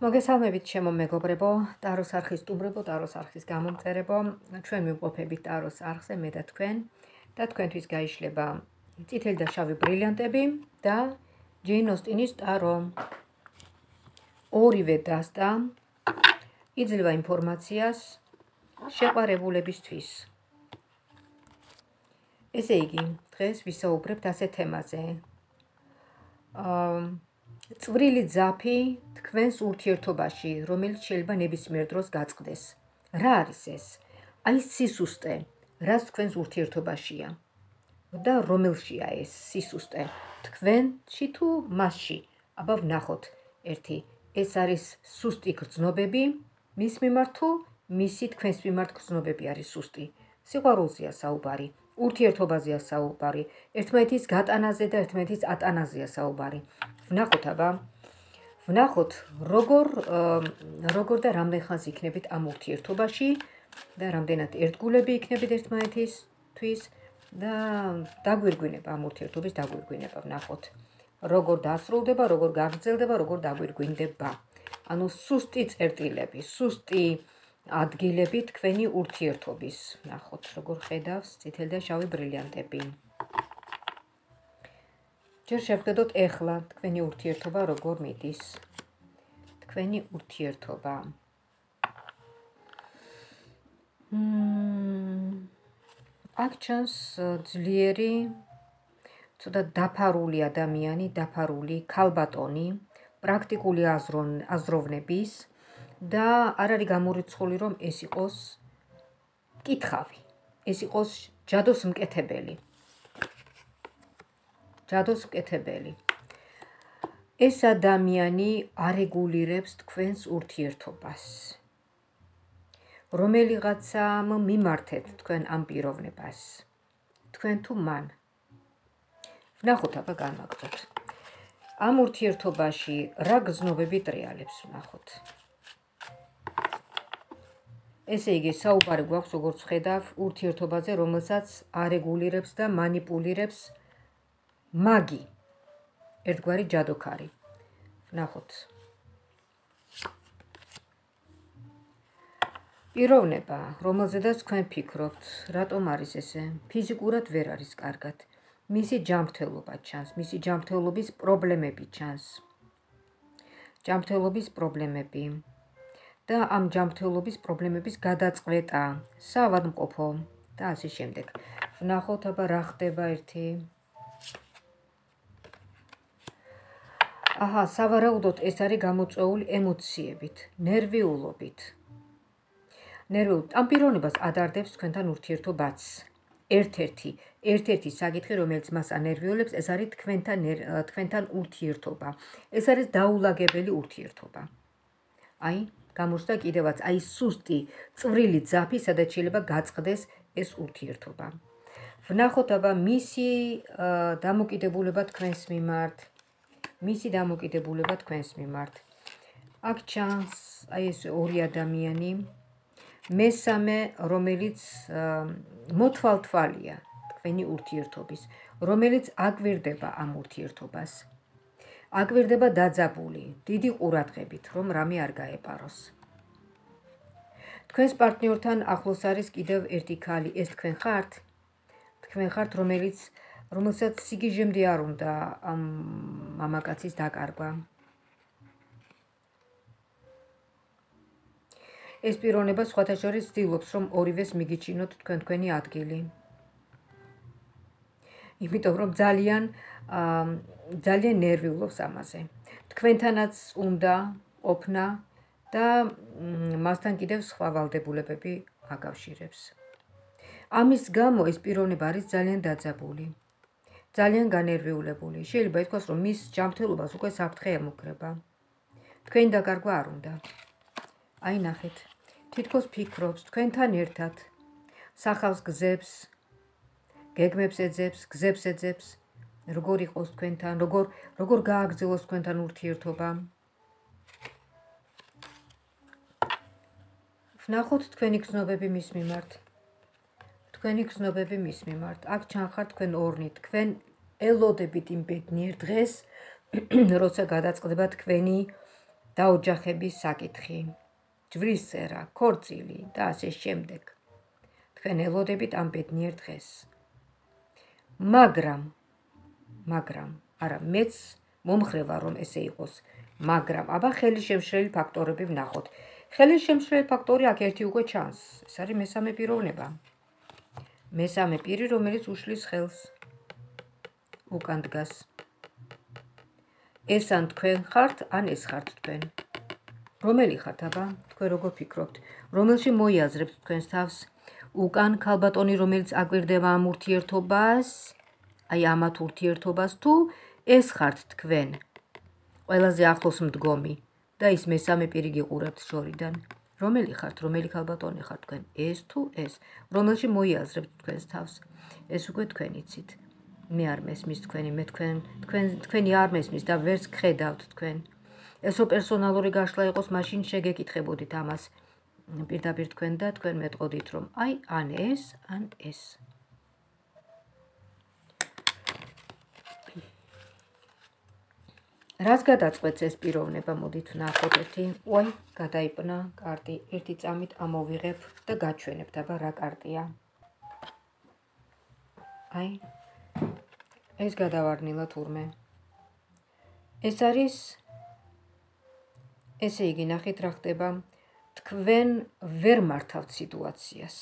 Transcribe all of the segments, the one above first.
მოგესალმებით ჩემო მეგობრებო, ტაროს არხის სტუმრებო, ტაროს არხის გამომწერებო. ჩვენ მივყოფებით ტაროს არხზე მე და თქვენთვის გაიშლება წითელი და შავი ბრილიანტები და ჯეინ ოსტინის ტარო. ორივე დასტა იძლევა ინფორმაციას შეყვარებულებისთვის. ესე იგი, დღეს ვისაუბრებთ ასე თემაზე. წვრილი ძაფი თქვენს ურთიერთობაში, რომელიც შეიძლება ნებისმიერ დროს გაწყდეს. რა არის ეს? აი სისუსტე, რაც თქვენს ურთიერთობაშია. და რომელშია ეს სისუსტე? თქვენში თუ მასში? აბა ვნახოთ ერთი. ეს არის სუსტი გრძნობები მის მიმართ თუ მისი თქვენს მიმართ გრძნობები არის სუსტი. სიყვარულზეა საუბარი, ურთიერთობაზეა საუბარი, ერთმანეთის გატანაზე და ერთმანეთის ატანაზეა საუბარი. ვნახოთ აბა, ვნახოთ როგორ და რამდენ ხანს იქნებით ამ ურთიერთობაში და რამდენად ერთგულები იქნებით ერთმანეთისთვის და დაგვირგვინება ამ ურთიერთობის დაგვირგვინება. ვნახოთ როგორ დასრულდება, როგორ გაგრძელდება, როგორ დაგვირგვინდება. ანუ სუსტი წერტილები, სუსტი ადგილები თქვენი ურთიერთობის. ვნახოთ როგორ ხედავს წითელი და შავი ბრილიანტები. ჯერ შევხედოთ ეხლა თქვენი ურთიერთობა როგორ მიდის. თქვენი ურთიერთობა. აქ ჩანს ძლიერი, ცოტა დაფარული ადამიანი, დაფარული ქალბატონი, პრაქტიკული აზროვნების და არ არის გამორიცხული, რომ ეს იყოს მკითხავი, ეს იყოს ჯადოს მკეთებელი. ეს ადამიანი არეგულირებს თქვენს ურთიერთობას. რომელიღაცამ მიმართეთ თქვენ ამ პიროვნებას. თქვენ თუ მან. ვნახოთ აბა განვაგრძოთ. ამ ურთიერთობაში რა გრძნობები ტრიალებს ვნახოთ. ესე იგი, საუბარი გვაქვს, როგორც ხედავ, ურთიერთობაზე, რომელსაც არეგულირებს და მანიპულირებს მაგი, ერთგვარი ჯადოქარი. ვნახოთ. პიროვნება, რომელზედაც თქვენ ფიქრობთ, რატომ არის ესე? ფიზიკურად ვერ არის კარგად. მისი ჯანმრთელობა ჩანს, მისი ჯანმრთელობის პრობლემები ჩანს. ჯანმრთელობის პრობლემები და ამ ჯანმრთელობის პრობლემების გადაწყვეტა, საავადმყოფო და ასე შემდეგ. ვნახოთ აბა რა ხდება ერთი. აჰა, სავარაუდოდ ეს არის გამოწვეული ემოციებით, ნერვიულობით. ამ პიროვნებას ადარდებს თქვენთან ურთიერთობაც. ერთ-ერთი საკითხი, რომელიც მას ანერვიულებს, ეს არის თქვენთან ურთიერთობა. ეს არის დაულაგებელი ურთიერთობა. აი, გამოჩნდა კიდევაც, აი სუსტი, წვრილი ძაფი, სადაც შეიძლება გაწყდეს ეს ურთიერთობა. ვნახოთ აბა მისი დამოკიდებულება თქვენს მიმართ. აქ ჩანს აი ეს ორი ადამიანი. მესამე, რომელიც მოთვალთვალია თქვენი ურთიერთობის, რომელიც აკვირდება ამ ურთიერთობას. აკვირდება დაძაბული, დიდი ყურადღებით, რომ რამე არ გაეპაროს. თქვენს პარტნიორთან ახლოს არის კიდევ ერთი ქალი, ეს თქვენ ხართ? თქვენ ხართ, რომელსაც სიგიჟემდე არ უნდა ამ მამაკაცის დაკარგვა. ეს პიროვნება სხვათა შორის ცდილობს, რომ ორივეს მიგიჩინოთ თქვენი ადგილი. იმიტომ რომ ძალიან ნერვიულობს ამაზე. თქვენთანაც უნდა ყოფნა და მასთან კიდევ სხვა ვალდებულებები აკავშირებს. ამის გამო ეს პიროვნება არის ძალიან დაძაბული, ძალიან განერვიულებული. შეიძლება ითქვას, რომ მის ჯანმრთელობას უკვე საფრთხე ემუქრება. თქვენი დაკარგვა არ უნდა. აი ნახეთ, თითქოს ფიქრობს თქვენთან ერთად, სახავს გზებს, გეგმებს ეძებს, გზებს ეძებს, როგორ იყოს თქვენთან, როგორ გააგრძელოს თქვენთან ურთიერთობა. ვნახოთ თქვენი გრძნობები მის მიმართ. აქ ჩანხართ თქვენ ორნი, თქვენ ელოდებით იმ ბედნიერ დღეს, როცა გადაწყდება თქვენი დაოჯახების საკითხი, ჯვრის წერა, ქორწილი და ასე შემდეგ. თქვენ ელოდებით ამ ბედნიერ დღეს. მაგრამ არა, მეც მომხრევა რომ ესე იყოს, მაგრამ აბა ხელისშემშლელი ფაქტორები ვნახოთ. ხელისშემშლელი ფაქტორი აქ ერთი უკვე ჩანს. ეს არის მესამე პიროვნება. მესამე პირი, რომელიც უშლის ხელს. უკან დგას. ეს ან თქვენ ხართ, ან ეს ხართ თქვენ. რომელი ხართ აბა? თქვენ როგორ ფიქრობთ? რომელში მოიაზრებთ თქვენს თავს? უკან ქალბატონი, რომელიც აკვირდება ამ ურთიერთობას, აი ამათ ურთიერთობას, თუ ეს ხართ თქვენ ყველაზე ახლოს მდგომი და ის მესამე პირი გიყურებთ შორიდან. რომელი ხართ, რომელი ქალბატონი ხართ თქვენ? ეს თუ ეს? რომელში მოიაზრებთ თქვენს თავს? ეს უკვე თქვენ იცით. მე არ მესმის თქვენი, მე თქვენი არ მესმის და ვერც გხედავთ თქვენ. ეს რო პერსონალური გაშლა იყოს, მაშინ შეგეკითხებოდით ამას პირდაპირ თქვენ და თქვენ მეტყოდით, რომ აი ან ეს, ან ეს. რას გადაწყვეტს ეს პიროვნება, მოდით ვნახოთ ერთი. უაი, გადაიპნა კარტი, ერთი წამით ამოვიღებ და გაჩვენებთ, აბა რა კარტია. აი, ეს გადავარდნილა თურმე. ეს არის, ესე იგი, ნახეთ რა ხდება. თქვენ ვერ მართავთ სიტუაციას.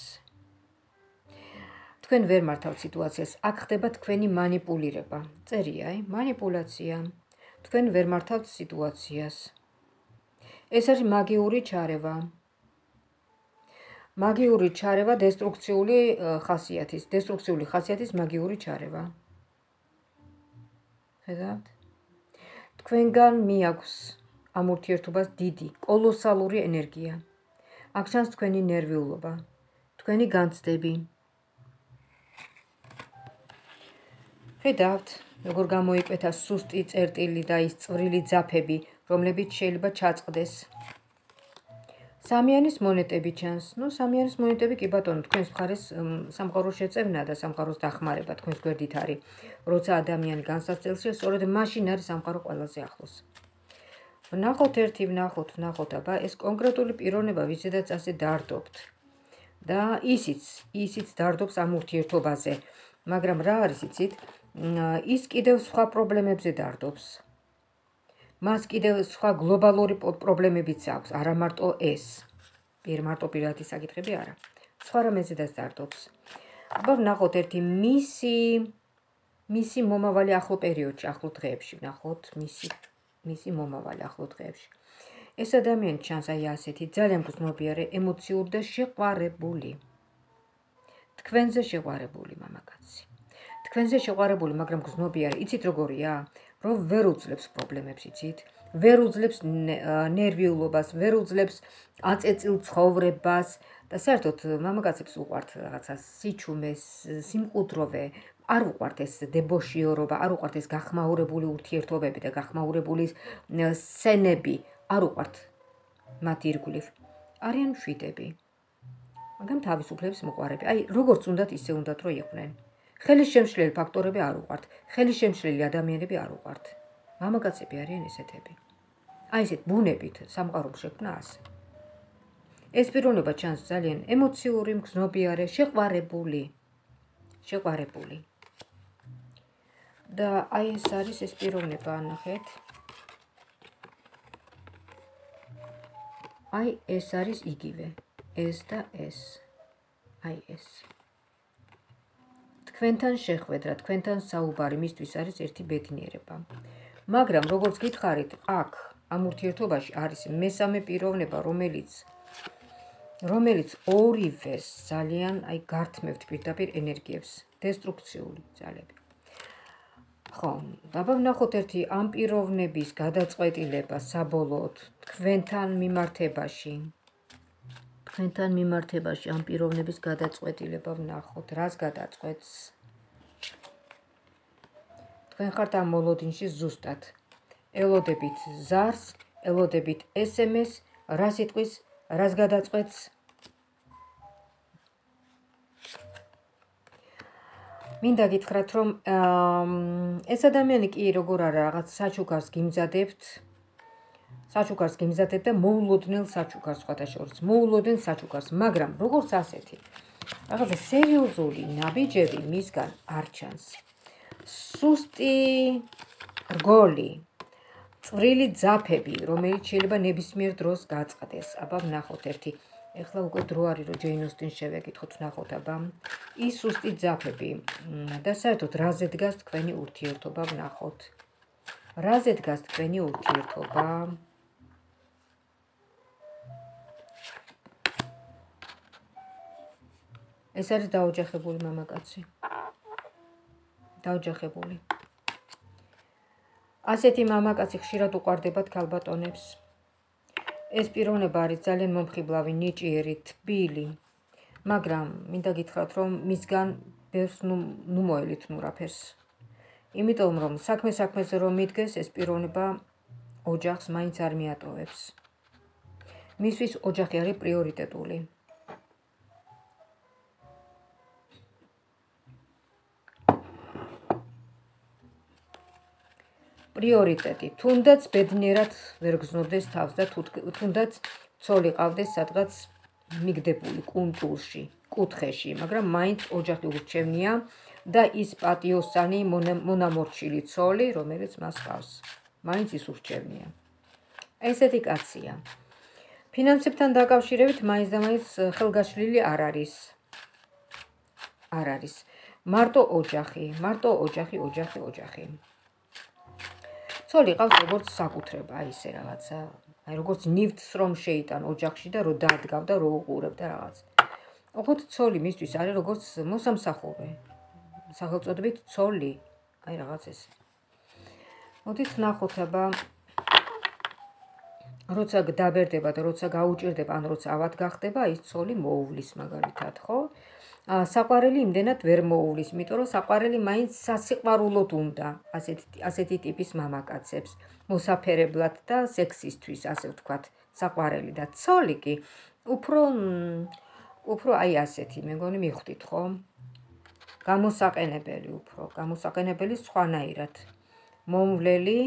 თქვენ ვერ მართავთ სიტუაციას. აქ ხდება თქვენი მანიპულირება. წერია, მანიპულაცია. თქვენ ვერ მართავთ სიტუაციას. ეს არის მაგიური ჩარევა. მაგიური ჩარევა დესტრუქციული ხასიათის მაგიური ჩარევა. ხედავთ? თქვენგან მიაქვს ამ ურთიერთობას დიდი, კოლოსალური ენერგია. აქ ჩანს თქვენი ნერვიულობა, თქვენი განცდები. ხედავთ, როგორ გამოიკვეთა სუსტი წერტილი და ის წვრილი ძაფები, რომლებიც შეიძლება ჩაწყდეს. სამიანის მონეტები ჩანს. სამიანის მონეტები კი ბატონო, თქვენს მხარეს სამყაროს შეწევნა და სამყაროს დახმარება თქვენს გვერდით არის. როცა ადამიანი განსაცდელშია, სწორედ მაშინ არის სამყარო ყველაზე ახლოს. ვნახოთ ერთი, ვნახოთ, აბა ეს კონკრეტული პიროვნება, ვისაც ასე დარდობთ. და ისიც დარდობს ამ ურთიერთობაზე. მაგრამ რა არის იცით? ის კიდევ სხვა პრობლემებზე დარდობს. მას კიდევ სხვა გლობალური პრობლემებიც აქვს, არა მარტო ეს. მარტო პირადი საკითხები არა. სხვა რამეზედაც დარდობს. აბა ვნახოთ ერთი მისი მომავალი ახლო პერიოდში, ახლო დღეებში ვნახოთ მისი მომავალი ახლო დღეებში. ეს ადამიანი ჩანს აი ასეთი, ძალიან გრძნობიარე, ემოციური და შეყვარებული. თქვენზე შეყვარებული მამაკაცი. თქვენზე შეყვარებული, მაგრამ გრძნობიარე. იცით როგორია? რომ ვერ უძლებს პრობლემებს, იცით? ვერ უძლებს ნერვიულობას, ვერ უძლებს აწეწილ ცხოვრებას და საერთოდ მამაკაცებს უყვართ რაღაცა სიჩუმე, სიმყუდროვე, არ უყვართ ეს დებოშიორობა, არ უყვართ ეს გახმაურებული ურთიერთობები და გახმაურებული სცენები, არ უყვართ მათ ირგვლივ. არიან მშვიდები, მაგრამ თავისუფლების მოყვარები. აი, როგორც უნდათ, ისე უნდათ, რომ იყვნენ. ხელისშემშლელი ფაქტორები არ უყვართ, ხელისშემშლელი ადამიანები არ უყვართ. მამაკაცები არიან ესეთები. აი ესეთ ბუნებით სამყარომ შექმნა ასე. ეს პიროვნება ჩანს ძალიან ემოციური, მგრძნობიარე, შეყვარებული. და აი ეს არის ეს პიროვნება, ნახეთ. აი ეს არის იგივე, ეს და ეს. აი ეს. თქვენთან შეხვედრა, თქვენთან საუბარი მისთვის არის ერთი ბედნიერება. მაგრამ როგორც გითხარით, აქ ამ ურთიერთობაში არის მესამე პიროვნება, რომელიც ორივეს ძალიან გართმევთ პირდაპირ ენერგიებს, დესტრუქციული ძალები. ხო, აბა ვნახოთ ერთი ამ პიროვნების გადაწყვეტილება საბოლოოდ თქვენთან მიმართებაში ამ პიროვნების გადაწყვეტილება ვნახოთ, რას გადაწყვეტს. თქვენ ხართ ამ მოლოდინში ზუსტად. ელოდებით ზარს, ელოდებით SMS, რა სიტყვის, რას გადაწყვეტს. მინდა გითხრათ, რომ ეს ადამიანი კი როგორ არა რაღაც საჩუქარს გიმზადებთ, საჩუქარს გიმზადებ და მოულოდნელ საჩუქარს სხვათა შორის, მოულოდნელ საჩუქარს, მაგრამ როგორც ასეთი რაღაცა სერიოზული ნაბიჯები მისგან არ ჩანს. სუსტი რგოლი, წვრილი ძაფები, რომელიც შეიძლება ნებისმიერ დროს გაწყდეს. აბა ვნახოთ ერთი. ეხლა უკვე დრო არის რომ ჯეინ ოსტინს შევეკითხოთ, ვნახოთ აბა. ის სუსტი ძაფები და საერთოდ რაზე დგას თქვენი ურთიერთობა, ვნახოთ. რაზე დგას თქვენი ურთიერთობა? ეს არის დაოჯახებული მამაკაცი. დაოჯახებული. ასეთი მამაკაცი ხშირად უყვარდებათ ქალბატონებს. ეს პიროვნება არის ძალიან მომხიბლავი, ნიჭიერი, თბილი, მაგრამ მინდა გითხრათ, რომ მისგან ბევრს ნუ მოელით ნურაფერს. იმიტომ რომ საქმეზე რომ მიდგეს, ეს პიროვნება ოჯახს მაინც არ მიატოვებს. მისთვის ოჯახი არის პრიორიტეტული. პრიორიტეტი, თუნდაც ბედნიერად ვერ გზნობდეს თავს და თუნდაც ცოლი ყავდეს სადღაც მიგდებული კუნძულში, კუთხეში, მაგრამ მაინც ოჯახი ურჩევნია და ის პატიოსანი მონამორჩილი ცოლი, რომელიც მას ყავს. მაინც ის ურჩევნია. ესეთი კაცია. ფინანსებთან დაკავშირებით მაინც და მაინც ხელგაშლილი არ არის. არ არის. მარტო ოჯახი. ცოლი ყავს როგორც საკუთრება, აი ესე რაღაცა, აი როგორც ნივთს რომ შეიტან ოჯახში და რომ დადგავ და რომ უყურებ და რაღაც. ოღონდ ცოლი მისთვის არის როგორც მოსამსახურე. სახელწოდებით ცოლი, აი რაღაც ეს. მოდით ვნახოთ აბა როცა დაბერდება და როცა გაუჭირდება, ან როცა ავად გახდება, ის ცოლი მოუვლის მაგალითად, ხო? საყვარელი იმდენად ვერ მოუვლის, იმიტომ რომ საყვარელი მაინც სასიყვარულოდ უნდა ასეთი ტიპის მამაკაცებს, მოსაფერებლად და სექსისთვის, ასე ვთქვათ, საყვარელი და ცოლი კი უფრო აი ასეთი, მე მგონი მიხვდით, ხო? გამოსაყენებელი სხვანაირად. მომვლელი,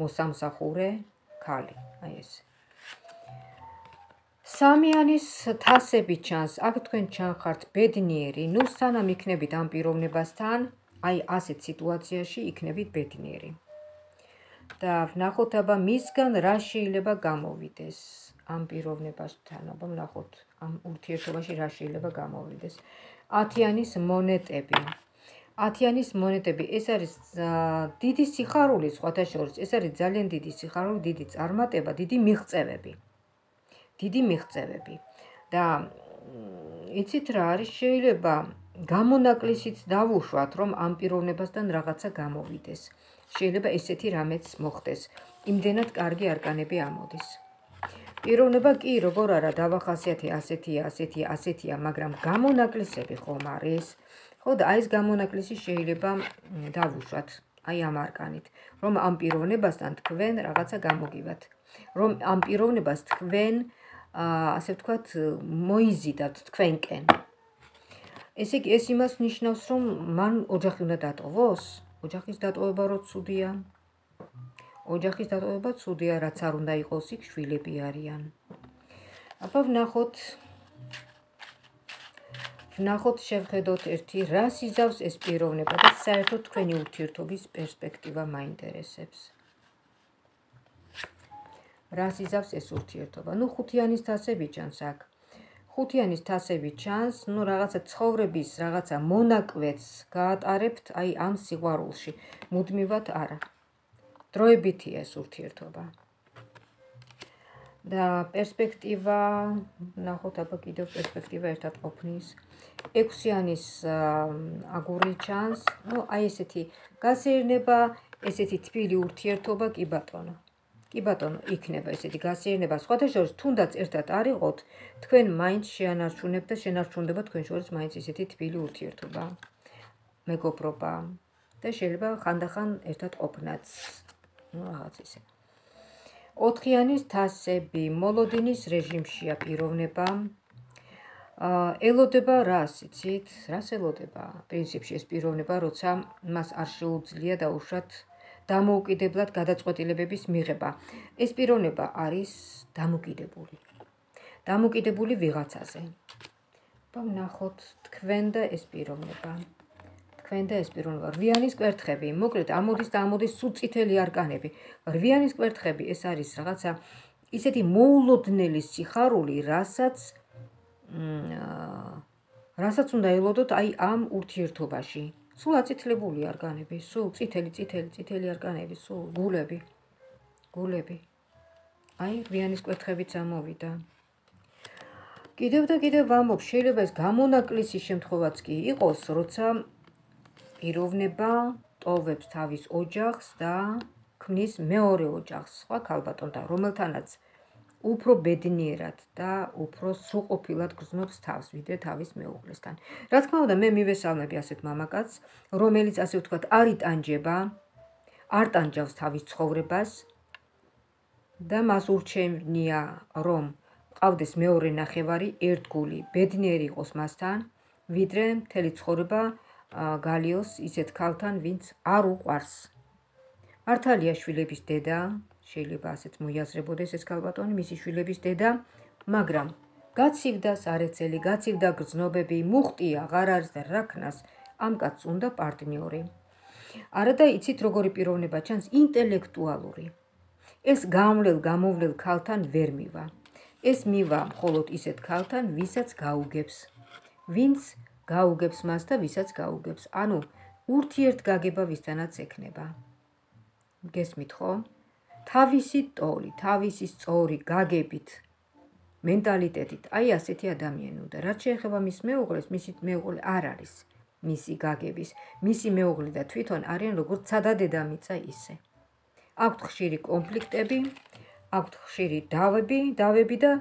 მოსამსახურე ქალი, აი ეს. სამიანის თასები ჩანს, აქ თქვენ ჩანხართ ბედნიერი, ნუ სანამ იქნებით ამ პიროვნებასთან, აი ასეთ სიტუაციაში იქნებით ბედნიერი. და ვნახოთ აბა მისგან რა შეიძლება გამოვიდეს ამ პიროვნებასთან, აბა ვნახოთ ამ ურთიერთობაში რა შეიძლება გამოვიდეს. 10-იანის მონეტები. 10-იანის მონეტები, ეს არის დიდი სიხარული სხვათა შორის, ეს არის ძალიან დიდი სიხარული, დიდი წარმატება, დიდი მიღწევები. და იცით რა არის, შეიძლება გამონაკლისიც დავუშვათ, რომ ამ პიროვნებასთან რაღაცა გამოვიდეს. შეიძლება ესეთი რამეც მოხდეს. იმდენად კარგი არკანები ამოდის. პიროვნება კი როგორ არა დავახასიათე ასეთია, მაგრამ გამონაკლისები ხომ არის? ხო და აი ეს გამონაკლისი შეიძლება დავუშვათ, აი ამ არკანით, რომ ამ პიროვნებასთან თქვენ რაღაცა გამოგივათ, რომ ამ პიროვნებას თქვენ ასე ვთქვათ, მოიზიდათ თქვენკენ. ესე იგი, ეს იმას ნიშნავს, რომ მან ოჯახი უნდა დატოვოს? ოჯახის დატოვება რო ცუდია. ოჯახის დატოვება ცუდია, რაც არ უნდა იყოს, იქ შვილები არიან. აბა ვნახოთ, შევხედოთ ერთი, რას იზავს ეს პიროვნება და საერთოდ თქვენი ურთიერთობის პერსპექტივა მაინტერესებს. რას იზავს ეს ურთიერთობა? ნუ 5-იანის თასები ჩანს აქ. 5-იანის თასები ჩანს, ნუ რაღაცა ცხოვრების, რაღაცა მონაკვეთს გაატარებთ აი ამ სიყვარულში. მუდმივად არა. დროებითია ეს ურთიერთობა. და პერსპექტივა, ნახოთ აბა კიდევ პერსპექტივა ერთად ყოფნის. 6-იანის აგური ჩანს, ნუ აი ესეთი გასეირნება, ესეთი თბილი ურთიერთობა, კი ბატონო. კი ბატონო, იქნება ესეთი გასეირნება, სხვათა შორის თუნდაც ერთად არ იყოთ, თქვენ მაინც შეანარჩუნებთ და შენარჩუნდება თქვენ შორის მაინც ესეთი თბილი ურთიერთობა, მეგობრობა და შეიძლება ხანდახან ერთად ყოფნაც. ნუ რაღაც ისე. 4-იანის თასები, მოლოდინის რეჟიმშია პიროვნება. ელოდება რას, იცით? რას ელოდება? პრინციპში ეს პიროვნება, როცა მას არ შეუძლია დამოუკიდებლად გადაწყვეტილებების მიღება. ეს პიროვნება არის დამოკიდებული ვიღაცაზე. ვნახოთ თქვენ და ეს პიროვნება. რვიანის კვერთხები, მოკლედ ამოდის და ამოდის სულ წითელი არკანები. რვიანის კვერთხები ეს არის რაღაცა ისეთი მოულოდნელი სიხარული, რასაც უნდა ელოდოთ აი ამ ურთიერთობაში. სულ აწითლებული არკანები, სულ წითელი არკანები, სულ გულები. აი რვიანის კვერთხებიც ამოვიდა. კიდევ და კიდევ ვამბობ, შეიძლება ეს გამონაკლისი შემთხვევაც კი იყოს, როცა პიროვნება ტოვებს თავის ოჯახს და ქმნის მეორე ოჯახს, სხვა ქალბატონთან, რომელთანაც უფრო ბედნიერად და უფრო სრულყოფილად გრძნობს თავს, ვიდრე თავის მეუღლესთან. რა თქმა უნდა, მე მივესალმები ასეთ მამაკაცს, რომელიც ასე ვთქვათ, არ ტანჯავს თავის ცხოვრებას და მას ურჩევნია, რომ ყავდეს მეორე ნახევარი, ერთგული, ბედნიერი იყოს მასთან, ვიდრე მთელი ცხოვრება გალიოს ისეთ ქალთან, ვინც არ უყვარს. მართალია შვილების დედა, შეიძლება ასეც მოიაზრებოდეს ეს ქალბატონი, მისი შვილების დედა, მაგრამ გაცივდა სარეცელი, გაცივდა გრძნობები, მუხტი აღარ არის და რა ქნას, ამ კაცს უნდა პარტნიორი. არა და იცით როგორი პიროვნება ჩანს, ინტელექტუალური. ეს გამოვლელ ქალთან ვერ მივა. ეს მივა მხოლოდ ისეთ ქალთან, ვინც გაუგებს მას და ვისაც გაუგებს. ანუ ურთიერთგაგება ვისთანაც ექნება. გესმით ხო? თავისი ტოლი, თავისი სწორი გაგებით, მენტალიტეტით, აი ასეთი ადამიანი უნდა. რაც შეეხება მის მეუღლეს, მისი მეუღლე არ არის მისი გაგების. მისი მეუღლე და თვითონ არიან როგორც ცადა დედამიწა ისე. აქვთ ხშირი კონფლიქტები, აქვთ ხშირი დავები და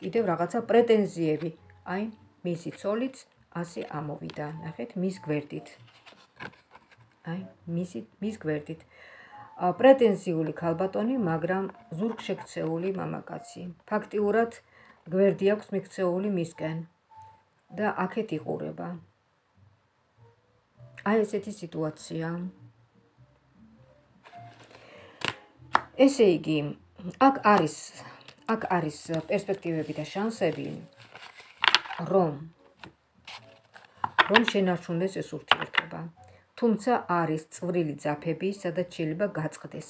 კიდევ რაღაცა პრეტენზიები. აი, მისი ცოლიც ასე ამოვიდა, ნახეთ, მის გვერდით. მის გვერდით. პრეტენზიული ქალბატონი, მაგრამ ზურგშექცეული მამაკაცი. ფაქტიურად გვერდი აქვს მიქცეული მისკენ და აქეთ იყურება. აი ესეთი სიტუაცია. ესე იგი, აქ არის პერსპექტივები და შანსები, რომ შენარჩუნდეს ეს ურთიერთობა. თუმცა არის წვრილი ძაფები, სადაც შეიძლება გაწყდეს.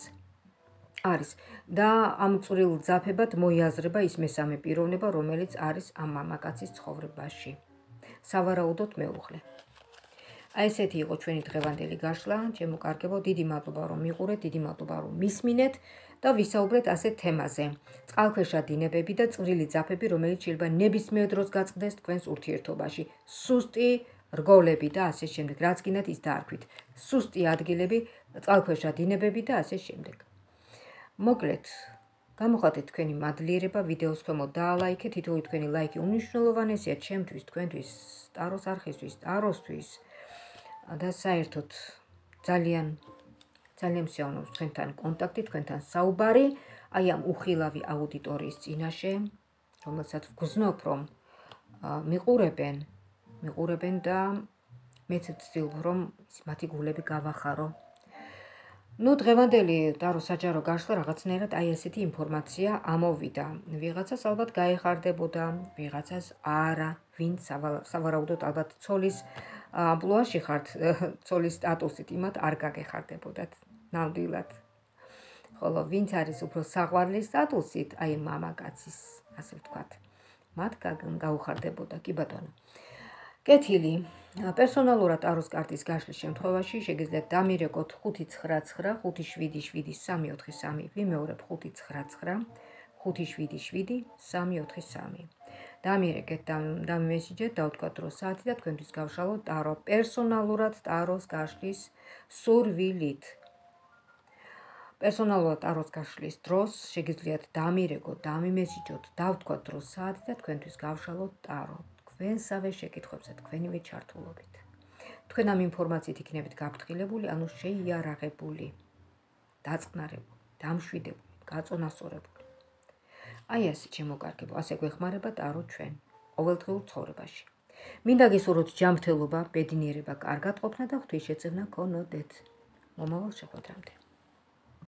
არის და ამ წვრილ ძაფებად მოიაზრება ის მესამე პიროვნება, რომელიც არის ამ მამაკაცის ცხოვრებაში. სავარაუდოდ მეუღლე. აი ესეთი იყო ჩვენი დღევანდელი გაშლა, ჩემო კარგებო, დიდი მადლობა რომ მიყურეთ, დიდი მადლობა რომ მისმინეთ და ვისაუბრეთ ასეთ თემაზე. წყალქვეშა დინებები და წვრილი ძაფები, რომელიც შეიძლება ნებისმიერ დროს გაწყდეს თქვენს ურთიერთობაში. სუსტი რგოლები და ასე შემდეგ, რაც გინდათ ის დაარქვით. სუსტი ადგილები, წყალქვეშა დინებები და ასე შემდეგ. მოკლედ, გამოხატეთ თქვენი მადლიერება, ვიდეოს ქვემოთ დაალაიქეთ, თითოეული თქვენი ლაიქი უმნიშვნელოვანესია ჩემთვის, თქვენთვის, ტაროს არხისთვის, ტაროსთვის და საერთოდ ძალიან მსიავნობს თქვენთან კონტაქტი, თქვენთან საუბარი, აი ამ უხილავი აუდიტორიის წინაშე, რომელსაც ვგრძნობ, რომ მიყურებენ და მეც ვცდილობ, რომ მათი გულები გავახარო. დღევანდელი ტარო საჯარო გაშლა რაღაცნაირად აი ესეთი ინფორმაცია ამოვიდა. ვიღაცას ალბათ გაეხარდებოდა, ვიღაცას არა, ვინც სავარაუდოდ ალბათ ცოლის ამპლუაში ხართ, ცოლის სტატუსით, იმათ არ გაგეხარდებოდათ ნამდვილად. ხოლო ვინც არის უფრო საყვარლის სტატუსით, აი მამაკაცის, ასე ვთქვათ, მათ გაუხარდებოდა, კი ბატონო. კეთილი. პერსონალურად ტაროს კარტის გაშლის შემთხვევაში შეგიძლიათ დამირეკოთ 599 577 343, ვიმეორებ 599 577 343. დამირეკეთ, დამიმესიჯეთ, დავთქვათ დრო საათი და თქვენთვის გავშალოთ ტარო პერსონალურად ტაროს გაშლის სურვილით. პერსონალურად ტაროს გაშლის დროს შეგიძლიათ დამირეკოთ, დამიმესიჯოთ, დავთქვათ დრო საათი და თქვენთვის გავშალოთ ტარო. თქვენსავე შეკითხვებზე თქვენივე ჩართულობით. თქვენ ამ ინფორმაციით იქნებით გაფრთხილებული, ანუ შეიარაღებული, დაწყნარებული, დამშვიდებული, გაწონასწორებული. აი ასე ჩემო კარგებო, ასე გვეხმარება ტარო ჩვენ ყოველდღიურ ცხოვრებაში. მინდა გესურვოთ ჯანმრთელობა, ბედნიერება, კარგად ყოფნა და ღვთისშეწევნა გქონოდეთ. მომავალ შეხვედრამდე.